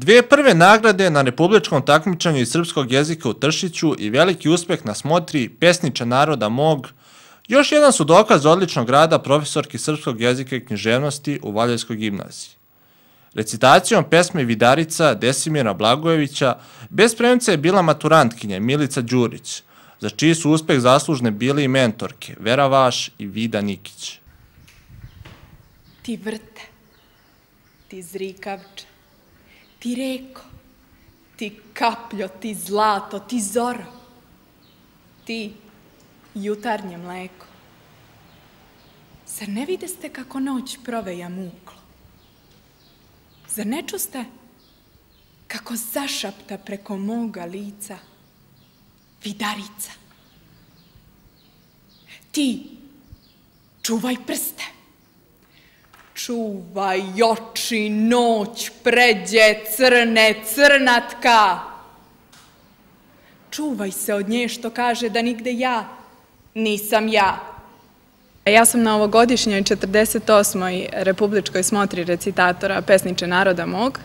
Dvije prve nagrade na republičkom takmičenju iz srpskog jezika u Tršiću i veliki uspeh na smotri Pesniče naroda mog, još jedan su dokaz odličnog rada profesorki srpskog jezika i književnosti u Valjevskoj gimnaziji. Recitacijom pesme Vidarica Desimira Blagojevića bez premca je bila maturantkinja Milica Đurić, za čiji su uspeh zaslužne bili i mentorke Vera Vaš i Vida Nikić. Ti vrte, ti zrikavče, ti reko, ti kapljo, ti zlato, ti zoro, ti jutarnje mleko. Zar ne videste kako noć proveja muklo? Zar ne čuste kako zašapta preko moga lica Vidarica? Ti čuvaj prste, čuvaj oči, noć pređe crne crnatka. Čuvaj se od nje što kaže da nigde ja nisam ja. Ja sam na ovogodišnjoj 48. republičkoj smotri recitatora Pesniče naroda mog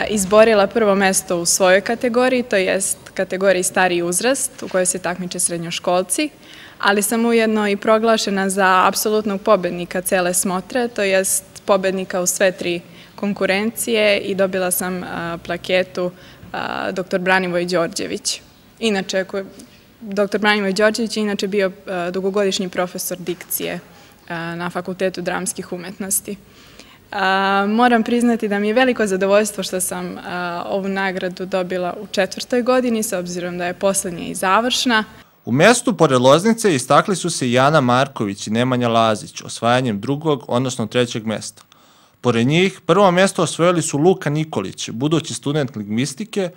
izborila prvo mesto u svojoj kategoriji, to jest kategoriji stariji uzrast u kojoj se takmiče srednjoškolci, ali sam ujedno i proglašena za apsolutnog pobednika cele smotre, to jest pobednika u sve tri konkurencije i dobila sam plaketu dr. Branivoj Đorđević. Inače, dr. Branivoj Đorđević je inače bio dugogodišnji profesor dikcije na Fakultetu dramskih umetnosti. Moram priznati da mi je veliko zadovoljstvo što sam ovu nagradu dobila u 4. godini, s obzirom da je poslednja i završna. U mestu pored Loznice istakli su se Jana Marković i Nemanja Lazić osvajanjem 2. odnosno 3. mesta. Pored njih prvo mesto osvojili su Luka Nikolić, budući student lingvistike,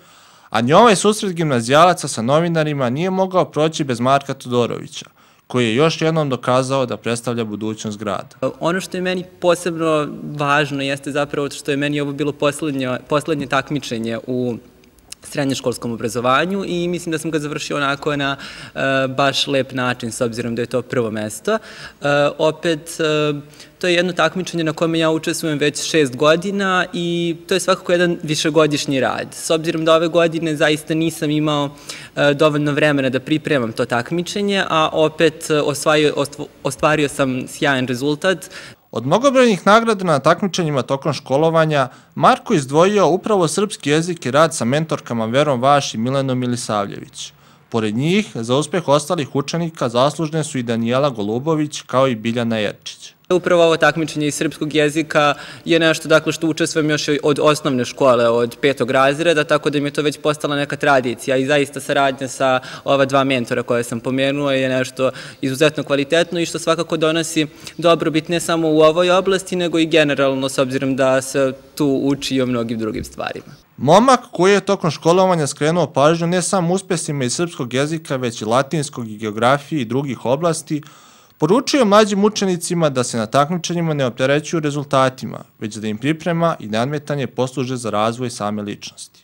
a ni ovaj susret gimnazijalaca sa novinarima nije mogao proći bez Marka Todorovića, koji je još jednom dokazao da predstavlja budućnost grada. Ono što je meni posebno važno jeste zapravo što je meni ovo bilo poslednje takmičenje u srednjoškolskom obrazovanju i mislim da sam ga završio onako na baš lep način, s obzirom da je to prvo mesto. Opet, to je jedno takmičenje na kome ja učestvujem već 6 godina i to je svakako jedan višegodišnji rad. S obzirom da ove godine zaista nisam imao dovoljno vremena da pripremam to takmičenje, a opet ostvario sam sjajan rezultat. Od mnogobrojnih nagrada na takmičenjima tokom školovanja, Marko izdvojio upravo srpski jezik i rad sa mentorkama Verom Vaš i Milenom Milisavljević. Pored njih, za uspeh ostalih učenika zaslužne su i Danijela Golubović kao i Biljana Jerčić. Upravo ovo takmičenje iz srpskog jezika je nešto dakle što učestvujem još od osnovne škole, od 5. razreda, tako da mi je to već postala neka tradicija i zaista saradnja sa ova dva mentora koje sam pomenuo je nešto izuzetno kvalitetno i što svakako donosi dobrobit ne samo u ovoj oblasti, nego i generalno, s obzirom da se tu uči i o mnogim drugim stvarima. Momak koji je tokom školovanja skrenuo pažnju ne samo uspesima iz srpskog jezika, već i latinskog i geografije i drugih oblasti, poručio mlađim učenicima da se na takmičenjima ne opterećuju rezultatima, već da im priprema i nadmetanje posluže za razvoj same ličnosti.